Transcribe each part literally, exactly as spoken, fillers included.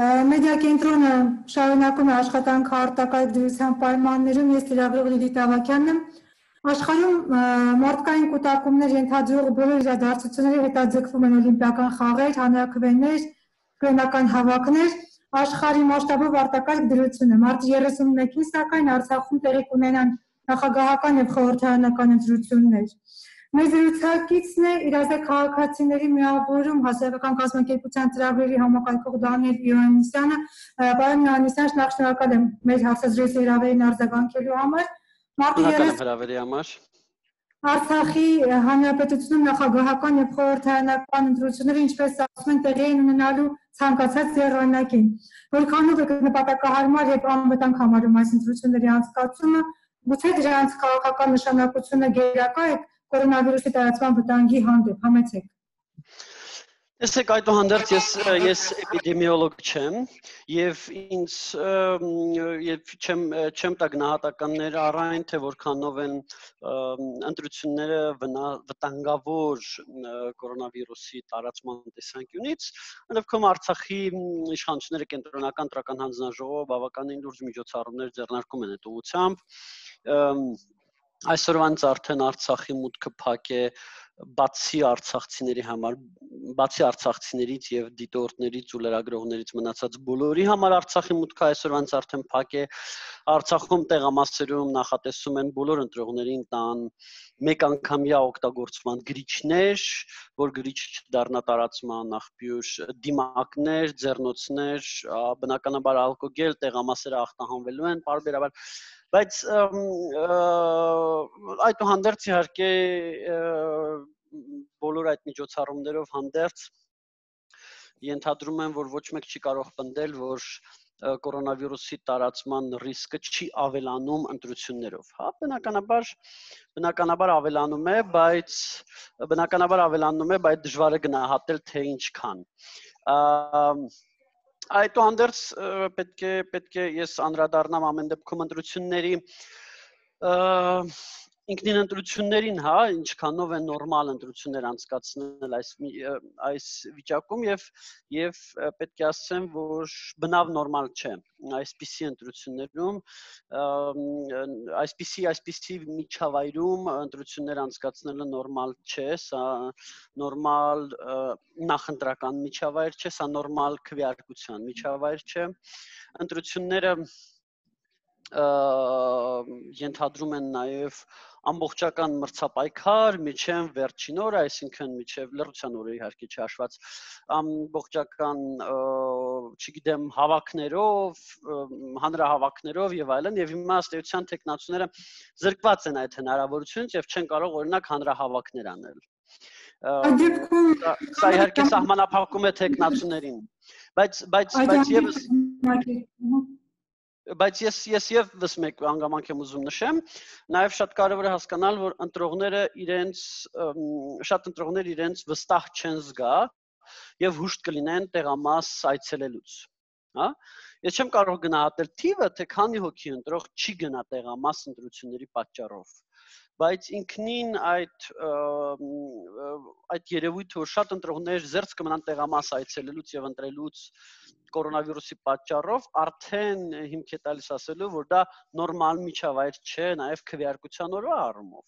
Մեդիա կենտրոնը շարունակում է աշխատանքը արտակարգ դրության պայմաններում, ես լրագրող Լիլիթ Ավագյանն եմ։ Աշխարհում մարդկային կուտակումներ ենթադրող բոլոր իրադարձությունները հետաձգվում են օլիմպիական խաղեր, հանրաքվեներ, կրոնական հավաքներ, աշխարհի մասշտաբով արտակարգ դրություն է։ Մարտի երեսունմեկին սակայն Արցախում տեղի կունենան նախագահական եւ խորհրդարանական ընտրություններ։ Մեր զրուցակիցն է իրազեկ քաղաքացիների միավորում հասարակական կազմակերպության ծրագրերի համակարգող Դանիել Իոաննիսյանը։ Պարոն Իոաննիսյան, շնորհակալ եմ մեր հարցազրույցի հրավերին արձագանքելու համար։ Հրավերի համար։ Արցախի հանրապետությունում նախագահական եւ խորհրդարանական ընտրությունները, ինչպես ասում են, տեղի են ունենալու ցանկացած եռանակին։ Որքանով է նպատակահարմար եւ անվտանգ համարում այս ընտրությունների անցկացումը, գուցե դրանց քաղաքական նշանակությունը գերակա է կորոնավիրուսի տարածման վտանգի հանդեպ, համեցեք։ Տեսեք, այդուհանդերձ ես ես էպիդեմիոլոգ չեմ եւ ինձ եւ չեմ չեմ տա գնահատականներ առայն թե որքանով են ընտրությունները վտանգավոր կորոնավիրուսի տարածման տեսանկյունից, այնովքան Արցախի իշխանությունները կենտրոնական տրական հանձնաժողովը բավականին լուրջ միջոցառումներ ձեռնարկում են այդ ուղղությամբ։ Այսօրվանից արդեն Արցախի մուտքը փակ է բացի արցախցիների համար, բացի արցախցիներից եւ դիտորդներից ու լրագրողներից մնացած բոլորի համար Արցախի մուտքը այսօրվանից արդեն փակ է։ Արցախում տեղամասերում նախատեսում են բոլոր ընտրողներին տան մեկ անգամյա օգտագործման գրիչներ, որ գրիչ չդառնա տարածման աղբյուր, դիմակներ, ձեռնոցներ, բնականաբար ալկոգել, տեղամասերը ախտահանվելու են պարբերաբար, բայց այդուհանդերձ իհարկե բոլոր այդ միջոցառումներով հանդերձ ենթադրում են, որ ոչ մեկ չի կարող պնդել, որ կորոնավիրուսի տարածման ռիսկը չի ավելանում ընտրություններով։ Հա, բնականաբար բնականաբար ավելանում է, բայց բնականաբար ավելանում է, բայց դժվար է գնահատել թե ինչքան։ Այդուհանդերձ պետք է պետք է ես անդրադառնամ ամեն դեպքում ընտրությունների ինքնին ընտրություններին, հա, ինչքանով են նորմալ ընտրություններ անցկացնել այս այս վիճակում եւ եւ պետք է ասեմ, որ բնավ նորմալ չէ այսպիսի ընտրություններում, այսպիսի այսպիսի միջավայրում ընտրություններ անցկացնելը նորմալ չէ, սա նորմալ նախընտրական միջավայր չէ, սա նորմալ քվեարկության միջավայր չէ, ընտրությունները ենթադրում են նաև ամբողջական մրցապայքար միջև վերջին օրը, այսինքն միջև լռության օրը իհարկե չհաշված, ամբողջական, չգիտեմ, հավաքներով, հանրահավաքներով եւ այլն, եւ հիմա ըստ էության տեխնացուները զրկված են այդ հնարավորությունից եւ չեն կարող օրինակ հանրահավաքներ անել։ Սա իհարկե սահմանափակում է տեխնացուներին, բայց բայց բայց եւս Բայց ես ես եւս մեկ հանգամանք եմ ուզում նշեմ, նաեւ շատ կարեւոր է հասկանալ, որ ընտրողները իրենց շատ ընտրողներ իրենց վստահ չեն զգա եւ հուշտ կլինեն տեղամաս այցելելուց, հա։ Ես չեմ կարող գնահատել թիվը, թե քանի հոգի ընտրող չի գնա տեղամաս ընտրությունների պատճառով, բայց ինքնին այդ այդ երևույթը, որ շատ ընտրողներ զերծ կմնան տեղամաս այցելելուց եւ ընտրելուց կորոնավիրուսի պատճառով արդեն հիմք է տալիս ասելու, որ դա նորմալ միջավայր չէ, նաև քվեարկության օրվա առումով։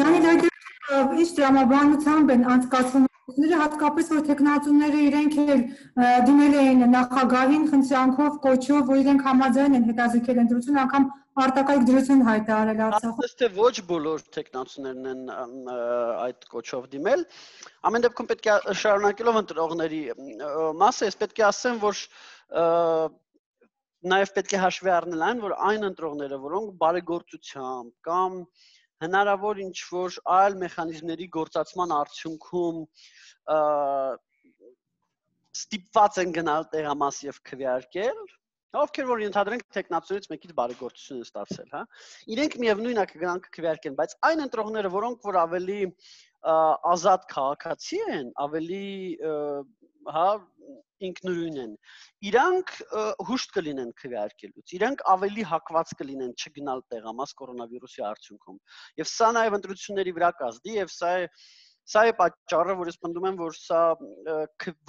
Դանիել, ինչ տրամաբանությամբ են անցկացվում ընտրությունները, հատկապես որ տեխնացուները իրենք էլ դիմել էին նախագահին խնդրանքով, կոչով, որ իրենք համաձայն են հետաձգել ընտրություն, անգամ արտակարգ դրություն հայտարարել Արցախում։ Ասես թե ոչ բոլոր տեխնացուներն են այդ կոչով դիմել։ Ամեն դեպքում պետք է շարունակելով ընտրողների մասը, ես պետք է ասեմ, որ նաև պետք է հաշվի առնել այն, որ այն ընտրողները, որոնք բարեգործությամբ կամ հնարավոր ինչ-որ այլ մեխանիզմների գործածման արդյունքում ստիպված են գնալ տեղամաս եւ քվեարկել, ովքեր որ ենթադրենք տեխնացուներից մեկից բարեգործություն են ստացել, հա։ Իրենք միևնույն է կգնան քվեարկեն, բայց այն ընտրողները, որոնք որ ավելի ազատ քաղաքացի են, ավելի հա ինքնուրույն են, իրանք հուշտ կլինեն քվեարկելուց, իրանք ավելի հակված կլինեն չգնալ տեղամաս կորոնավիրուսի արդյունքում։ Եվ սա նաև ընտրությունների վրա կազդի, եւ սա է Սա է պատճառը, որ ես պնդում եմ, որ սա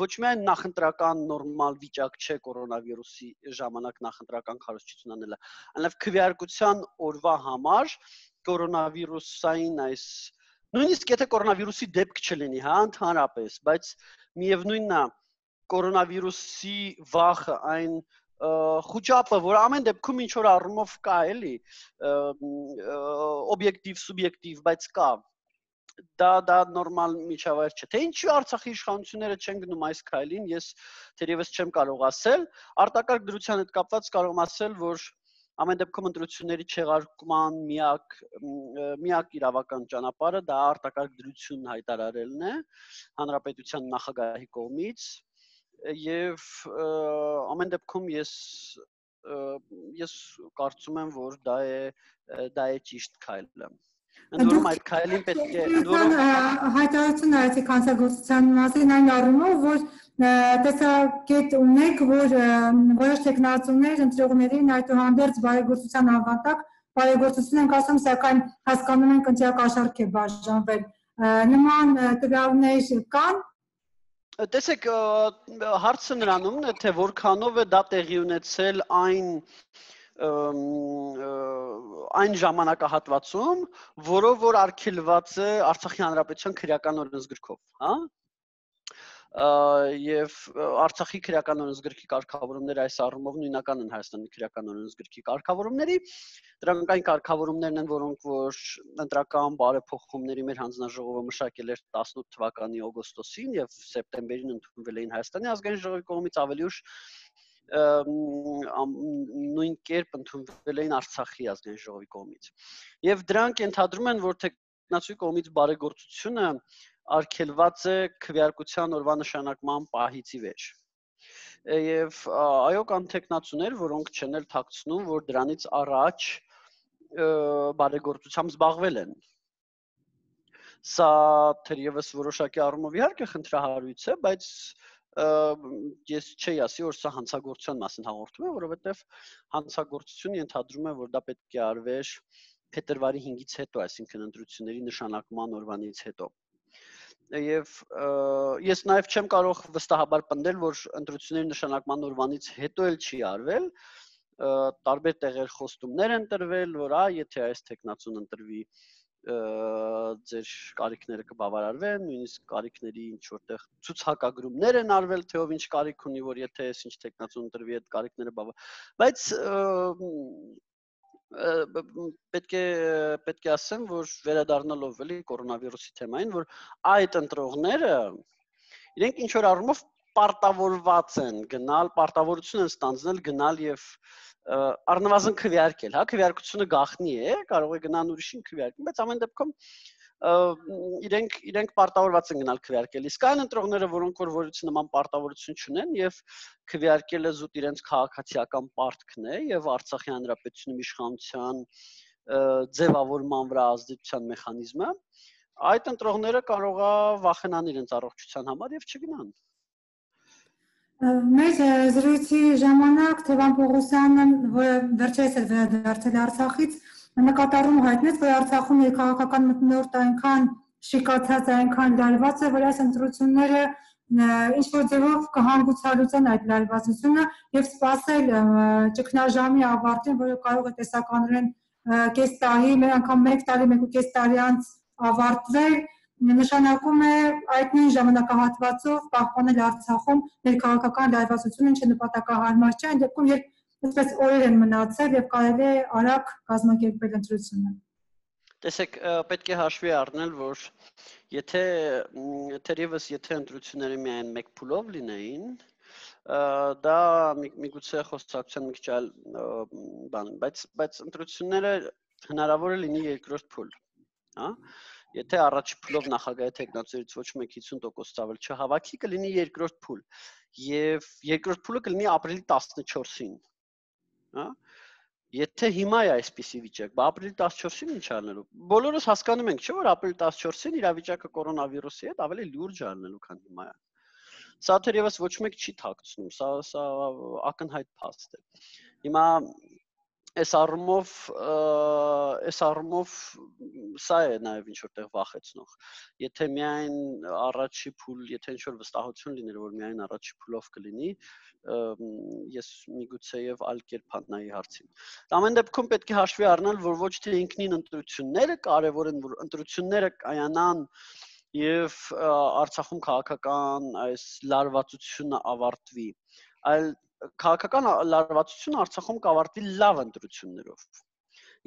ոչ միայն նախընտրական նորմալ վիճակ չէ կորոնավիրուսի ժամանակ նախընտրական քարոզչություն անելը, այլև քվեարկության օրվա համար կորոնավիրուսային այս նույնիսկ եթե կորոնավիրուսի դեպք չլինի, հա, ընդհանրապես, բայց միևնույնն է կորոնավիրուսի վախը այն խոճապը, որ ամեն դեպքում ինչ որ առումով կա, էլի, օբյեկտիվ, սուբյեկտիվ, բայց կա դա դա նորմալ միջավայր չէ։ Թե ինչու Արցախի իշխանությունները չեն գնում այս քայլին, ես թերևս չեմ կարող ասել, արտակարգ դրության հետ կապված կարող եմ ասել, որ ամեն դեպքում ընտրությունների չեղարկման միակ միակ իրավական ճանապարհը դա արտակարգ դրություն հայտարարելն է հանրապետության նախագահի կողմից եւ ամեն դեպքում ես ես կարծում եմ, որ դա է դա է ճիշտ քայլը։ Ընդորում այդ քայլին պետք է ընդորում հայտարարություն արեցի կանցագործության մասին այն առումով, որ տեսակետ ունեք, որ որոշ տեխնացուներ ընտրողներին այդուհանդերձ բարեգործության ավանդակ բարեգործություն ենք ասում, սակայն հասկանում ենք ընտրյակ աշարք է բաժանվել։ Նման տվյալներ կան։ Տեսեք, հարցը նրանումն է, թե որքանով է դա տեղի ունեցել այն այն ժամանակահատվածում, որով որ արգելված է Արցախի հանրապետության քրեական օրենսգրքով, հա? Եվ Արցախի քրեական օրենսգրքի կարգավորումները այս առումով նույնական են Հայաստանի քրեական օրենսգրքի կարգավորումների, դրանք այն կարգավորումներն են, որոնք որ ընտրական բարեփոխումների մեր հանձնաժողովը մշակել էր տասնութ թվականի օգոստոսին եւ սեպտեմբերին ընդունվել էին Հայաստանի ազգային ժողովի կողմից ավելի ուշ նույն կերպ ընդունվել էին Արցախի ազգային ժողովի կողմից։ Եվ դրանք ենթադրում են, որ տեխնացուի կողմից բարեգործությունը արգելված է քվեարկության օրվա նշանակման պահից ի վեր։ Եվ այո, կան տեխնացուներ, որոնք չեն էլ թաքցնում, որ դրանից առաջ բարեգործությամբ զբաղվել են։ Սա թերևս որոշակի առումով իհարկե խնդրահարույց է, բայց ես չի ասի, որ սա հանցագործության մասին հաղորդում է, որովհետև հանցագործությունը ենթադրում է, որ դա պետք է արվեր փետրվարի հինգից հետո, այսինքն ընտրությունների նշանակման օրվանից հետո։ Եվ ես նաև չեմ կարող վստահաբար պնդել, որ ընտրությունների նշանակման օրվանից հետո էլ չի արվել, տարբեր տեղեր խոստումներ են տրվել, որ այ եթե այս տեխնացուն ընտրվի ձեր կարիքները կբավարարվեն, նույնիսկ կարիքների ինչ որտեղ ցուցակագրումներ են արվել, թե ով ինչ կարիք ունի, որ եթե այս ինչ տեխնացուն ընտրվի, այդ կարիքները բավարար։ Բայց պետք է պետք է ասեմ, որ վերադառնալով էլի կորոնավիրուսի թեմային, որ այդ ընտրողները իրենք ինչ որ առումով պարտավորված են գնալ, պարտավորություն են ստանձնել գնալ եւ առնվազն քվեարկել, հա, քվեարկությունը գաղտնի է, կարող է գնան ուրիշին քվեարկել, բայց ամեն դեպքում իրենք իրենք պարտավորված են գնալ քվեարկել։ Իսկ այն ընտրողները, որոնք որ որից նման պարտավորություն չունեն եւ քվեարկելը զուտ իրենց քաղաքացիական պարտքն է եւ Արցախի հանրապետությունում իշխանության ձևավորման վրա ազդեցության մեխանիզմը, այդ ընտրողները կարող է վախենան իրենց առողջության համար եւ չգնան։ Մեր զրույցի ժամանակ Թևան Պողոսյանը, որը վերջերս էր վերադարձել Արցախից, նկատառում հայտնեց, որ Արցախում ներքաղաքական մթնոլորտը այնքան շիկացած, այնքան լարված է, որ այս ընտրությունները ինչ-որ ձևով կհանգուցալուծեն այդ լարվածությունը եւ սպասել ճգնաժամի ավարտին, որը կարող է տեսականորեն կես տարի, մեր անգամ մեկ տարի, մեկ ու կես տարի անց ավարտվել, նշանակում է այդ նույն ժամանակահատվածով պահպանել Արցախում ներքաղաքական լարվածությունը, ինչը նպատակահարմար չէ, այն դեպքում, երբ այսպես օրեր են մնացել եւ կարելի է արագ կազմակերպել ընտրությունը։ Տեսեք, պետք է հաշվի առնել, որ եթե թերևս եթե ընտրությունները միայն մեկ փուլով լինեին, դա միգուցե խոսակցության մի քիչ այլ բան, բայց բայց ընտրությունները հնարավոր է լինի երկրորդ փուլ, հա։ Եթե առաջի փուլով նախագահի տեխնացուներից ոչ մեկ հիսուն տոկոս ցավել չհավաքի, կլինի երկրորդ փուլ։ Եվ երկրորդ փուլը կլինի ապրիլի տասնչորսին, հա։ Եթե հիմա է այսպիսի վիճակ, բա ապրիլի տասնչորսին ինչ անելու։ Բոլորս հասկանում ենք, չէ՞ որ ապրիլի տասնչորսին իրավիճակը կորոնավիրուսի հետ ավելի լուրջ անելու, քան հիմա է։ Սա թերևս ոչ մեկ չի թաքցնում, սա սա ակնհայտ փաստ է։ Հիմա Այս առումով այս առումով սա է նաև ինչ որտեղ վախեցնող։ Եթե միայն առաջի փուլ, եթե ինչ որ վստահություն լիներ, որ միայն առաջի փուլով կլինի, ես միգուցե եւ այլ կերպ նայի հարցին։ Ամեն դեպքում պետք է հաշվի առնել, որ ոչ թե ինքնին ընտրությունները կարևոր են, որ ընտրությունները կայանան եւ Արցախում քաղաքական այս լարվածությունը ավարտվի, այլ քաղաքական լարվածությունը Արցախում կավարտվի լավ ընտրություններով։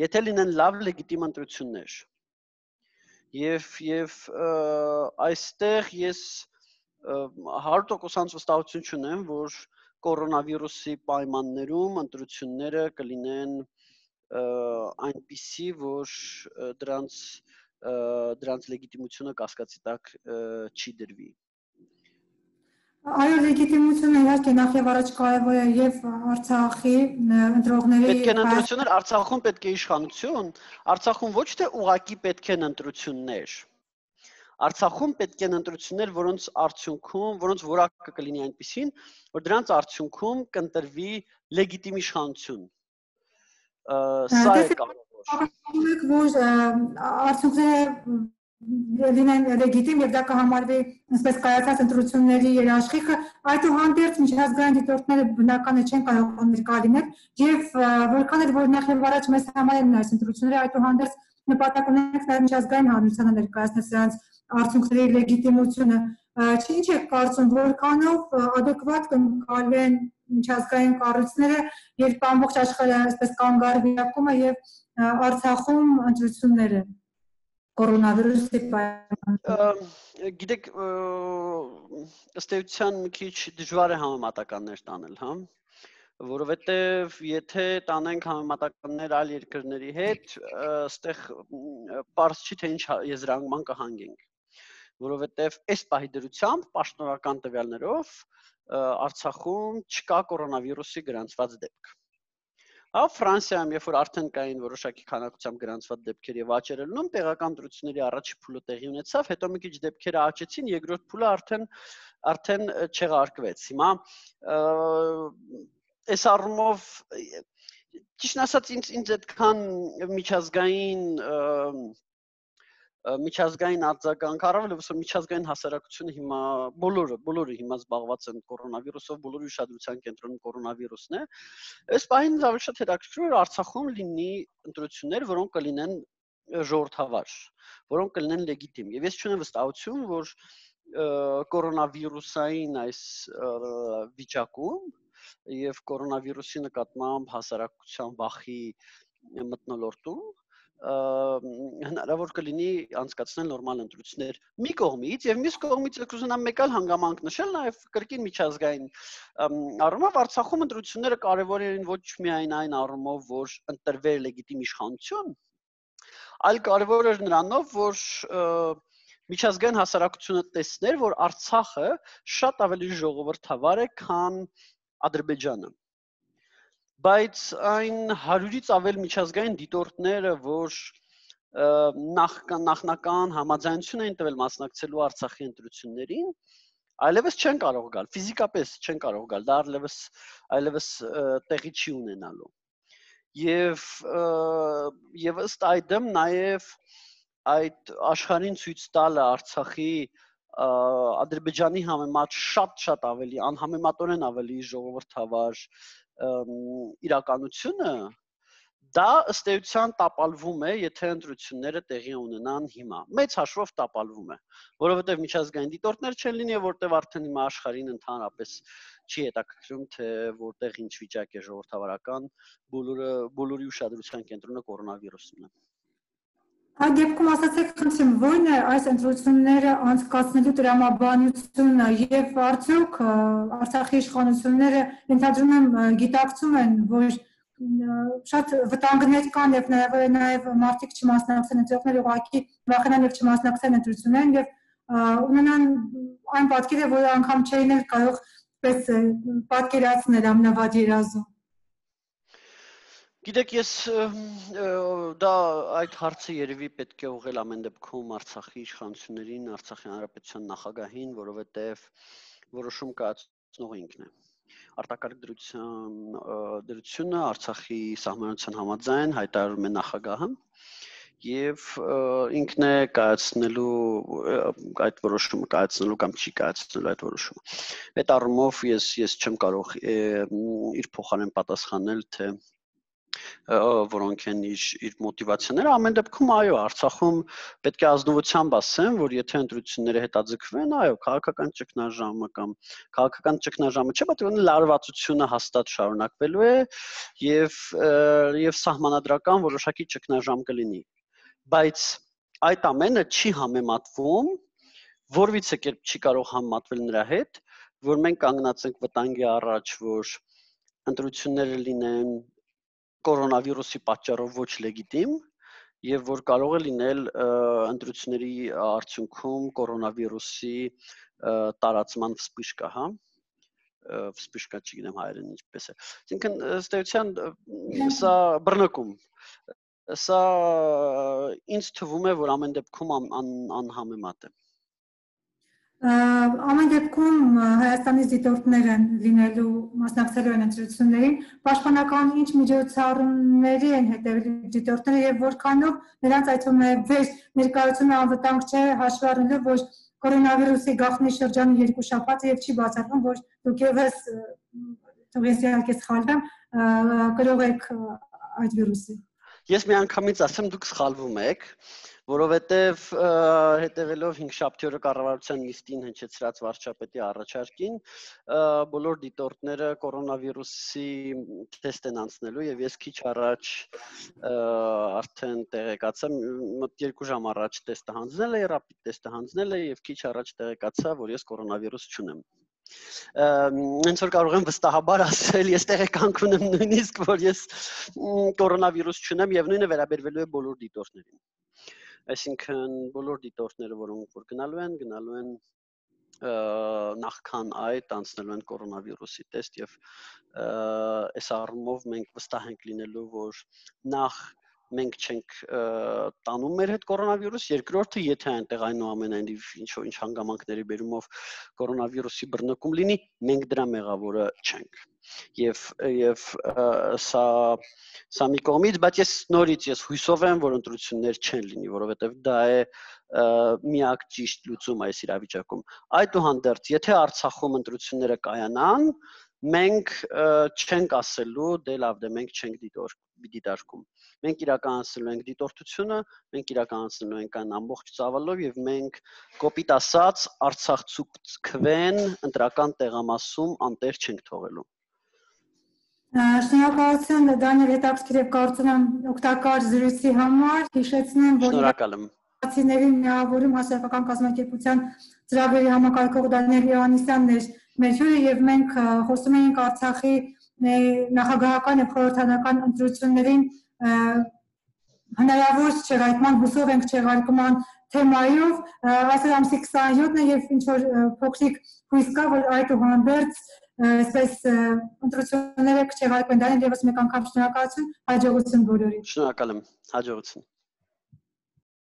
Եթե լինեն լավ լեգիտիմ ընտրություններ։ Եվ եւ այստեղ ես հարյուր տոկոս վստահություն չունեմ, որ կորոնավիրուսի պայմաններում ընտրությունները կլինեն այնպիսի, որ դրանց դրանց լեգիտիմությունը կասկածի տակ չի դրվի։ Այո, լեգիտիմությունը իհարկե նախ եւ առաջ կարևոր է եւ Արցախի ընտրողների պետք են ընտրություններ, Արցախում պետք է իշխանություն, Արցախում ոչ թե ուղակի պետք են ընտրություններ։ Արցախում պետք են ընտրություններ, որոնց արդյունքում, որոնց որակը կլինի այնպիսին, որ դրանց արդյունքում կընտրվի լեգիտիմ իշխանություն։ Սա է կարևոր։ Որ արդյունքները լինեն լեգիտիմ եւ դա կհամարվի ինչպես կայացած ընտրությունների երաշխիքը, այդուհանդերձ միջազգային դիտորդները բնական է չեն կարող ներկայացնել եւ որքան էլ որ նախ եւ առաջ մեզ համար են այս ընտրությունները, այդուհանդերձ նպատակ ունենք նաեւ միջազգային հանրությանը ներկայացնել սրանց արդյունքների լեգիտիմությունը։ Ինչ է կարծում, որքանով adekvat կընկալեն միջազգային կառույցները, երբ ամբողջ աշխարհը այսպես կանգ առնի եւ Արցախում ընտրությունները կորոնավիրուսի պայմաններում։ Գիտեք, ըստ էության մի քիչ դժվար է համեմատականներ տանել, հա, որովհետեւ եթե տանենք համեմատականներ այլ երկրների հետ, այստեղ պարզ չի թե ինչ եզրանկման կհանգենք, որովհետեւ այս պահի դրությամբ պաշտոնական տվյալներով Արցախում չկա կորոնավիրուսի գրանցված դեպք։ Հա Ֆրանսիայում երբ որ արդեն կային որոշակի քանակությամբ գրանցված դեպքեր եւ աճեր ելնում, տեղական ընտրությունների առաջի փուլը տեղի ունեցավ, հետո մի քիչ դեպքերը աճեցին, երկրորդ փուլը արդեն արդեն չեղարկվեց։ Հիմա այս առումով ճիշտ ասած ինձ ինձ այդքան միջազգային միջազգային արձագանք առավել որ միջազգային հասարակությունը հիմա բոլորը բոլորը հիմա զբաղված են կորոնավիրուսով, բոլորի ուշադրության կենտրոնում կորոնավիրուսն է։ Այս պահին ավելի շատ հետաքրքիր է Արցախում լինի ընտրություններ, որոնք կլինեն ժողովրդավար, որոնք կլինեն լեգիտիմ։ Եվ ես չունեմ վստահություն, որ կորոնավիրուսային այս վիճակում եւ կորոնավիրուսի նկատմամբ հասարակության վախի մթնոլորտում հնարավոր կլինի անցկացնել նորմալ ընտրություններ մի կողմից եւ մյուս կողմից կուզենամ մեկ այլ հանգամանք նշել նաեւ կրկին միջազգային առումով Արցախում ընտրությունները կարեւոր են ոչ միայն այն առումով որ ընտրվեր լեգիտիմ իշխանություն, այլ կարեւոր էր նրանով որ միջազգային հասարակությունը տեսներ որ Արցախը շատ ավելի ժողովրդավար է քան Ադրբեջանը։ Բայց այն հարյուրից ավել միջազգային դիտորդները, որ նախնական համաձայնություն էին տվել մասնակցելու Արցախի ընտրություններին, այլևս չեն կարող գալ, ֆիզիկապես չեն կարող գալ, դա այլևս այլևս տեղի չի ունենալու։ Եվ եւ ըստ այդմ նաեւ այդ աշխարհին ցույց տալը Արցախի Ադրբեջանի համեմատ շատ-շատ ավելի անհամեմատորեն ավելի ժողովրդավար իրականությունը դա ըստ էության տապալվում է, եթե ընտրությունները տեղի ունենան հիմա։ Մեծ հաշվով տապալվում է, որովհետև միջազգային դիտորդներ չեն լինի, որտեղ արդեն հիմա աշխարհին ընդհանրապես չի հետաքրքրում, թե որտեղ ինչ վիճակ է ժողովրդավարական, բոլորը բոլորի ուշադրության կենտրոնը կորոնավիրուսն է։ Այդ դեպքում ասացեք, խնդրեմ, ո՞րն է այս ընտրությունները անցկացնելու տրամաբանությունը եւ արդյոք Արցախի իշխանությունները ընդհանրում եմ գիտակցում են, որ շատ վտանգներ կան եւ նաեւ նաեւ մարդիկ չմասնակցեն ընտրողները ուղղակի վախենան եւ չմասնակցեն ընտրություններին եւ ունենան այն պատկերը, որը անգամ չէին էլ կարող պես պատկերացնել ամնավաճ երազում։ Գիտեք, ես դա այդ հարցը երևի պետք է ուղղել ամեն դեպքում Արցախի իշխանություններին, Արցախի հանրապետության նախագահին, որովհետև որոշում կայացնող ինքն է։ արտակարգ դրության դրությունը Արցախի սահմանության համաձայն հայտարարում է նախագահը եւ ինքն է կայացնելու այդ որոշումը կայացնելու կամ չի կայացնելու այդ որոշումը։ Այդ առումով ես ես չեմ կարող իր փոխարեն պատասխանել, թե որոնք են իր իր մոտիվացիաները, ամեն դեպքում այո, Արցախում պետք է ազնվությամբ ասեմ, որ եթե ընտրությունները հետաձգվեն, այո, քաղաքական ճգնաժամը կամ քաղաքական ճգնաժամը չէ, բայց լարվածությունը հաստատ շարունակվելու է եւ եւ սահմանադրական որոշակի ճգնաժամ կլինի։ Բայց այդ ամենը չի համեմատվում, որևիցե կերպ չի կարող համեմատվել նրա հետ, որ մենք կանգնած ենք վտանգի առաջ, որ ընտրությունները լինեն կորոնավիրուսի պատճառով ոչ լեգիտիմ եւ որ կարող է լինել ընտրությունների արդյունքում կորոնավիրուսի տարածման վսպիշկա, հա վսպիշկա չգիտեմ հայերեն ինչպես է։ Այսինքն ըստ էության սա բռնկում սա ինձ թվում է, որ ամեն դեպքում անհամեմատ է։ Ամեն դեպքում Հայաստանի դիտորդներ են լինելու մասնակցելու են ընտրություններին, պաշտպանական ինչ միջոցառումների են հետևելու դիտորդները եւ որքանով նրանց այդ վեր ներկայությունը անվտանգ չէ հաշվի առնելով, որ կորոնավիրուսի գաղտնի շրջանի երկու շաբաթ եւ չի բացառվում, որ դուք եւս թող ես իհարկե սխալվեմ, կրող եք այդ վիրուսի։ Ես միանգամից ասեմ դուք սխալվում եք, որովհետև հետևելով հինգշաբթի օրը կառավարության նիստին հնչեցրած վարչապետի առաջարկին, բոլոր դիտորդները կորոնավիրուսի թեստ են անցնելու եւ ես քիչ առաջ արդեն տեղեկացա, մոտ երկու ժամ առաջ տեստը հանձնել է, ռապիդ տեստը հանձնել է եւ քիչ առաջ տեղեկացա, որ ես կորոնավիրուս չունեմ։ Հենց որ կարող եմ վստահաբար ասել, ես տեղեկանք ունեմ նույնիսկ, որ ես կորոնավիրուս չունեմ եւ նույնը վերաբերվելու է բոլոր դիտորդներին։ Այսինքն բոլոր դիտորդները, որոնք որ գնալու են, գնալու են նախքան այդ անցնելու են կորոնավիրուսի տեստ եւ այս առումով մենք վստահ ենք լինելու, որ նախ մենք չենք տանում մեր հետ կորոնավիրուս, երկրորդը, եթե այնտեղ այնուամենայնիվ ինչ-որ ինչ հանգամանքների բերումով կորոնավիրուսի բռնկում լինի, մենք դրա մեղավորը չենք։ Եվ եւ սա սա մի կողմից, բայց ես նորից ես հույսով եմ, որ ընտրություններ չեն լինի, որովհետեւ դա է միակ ճիշտ լուծումը այս իրավիճակում։ Այդուհանդերձ, եթե Արցախում ընտրությունները կայանան, մենք չենք ասելու, դե լավ, դե մենք չենք դիտարկում։ Մենք իրականացնելու ենք դիտորդությունը, մենք իրականացնելու ենք այն ամբողջ ծավալով եւ մենք կոպիտ ասած Արցախցուց քվեն ընտրական տեղամասում անտեր չենք թողելու։ Շնորհակալություն Դանիել, հետաքրքիր եւ կարծում եմ օգտակար զրույցի համար, հիշեցնեմ, որ Շնորհակալ եմ։ Ացիների միավորում հասարակական կազմակերպության ծրագրերի համակարգող Դանիել Հովհաննիսյանն էր մեր հյուրը եւ մենք խոսում էինք Արցախի նախագահական եւ խորհրդարանական ընտրություններին հնարավոր չեղարկման, հուսով ենք չեղարկման թեմայով, այսօր ամսի քսանյոթն է եւ ինչ որ փոքրիկ հույս կա, որ այդուհանդերձ այսպես ընտրությունները կչեղարկվեն, Դանիել, եւս մեկ անգամ շնորհակալություն, հաջողություն բոլորին։ Շնորհակալ եմ, հաջողություն։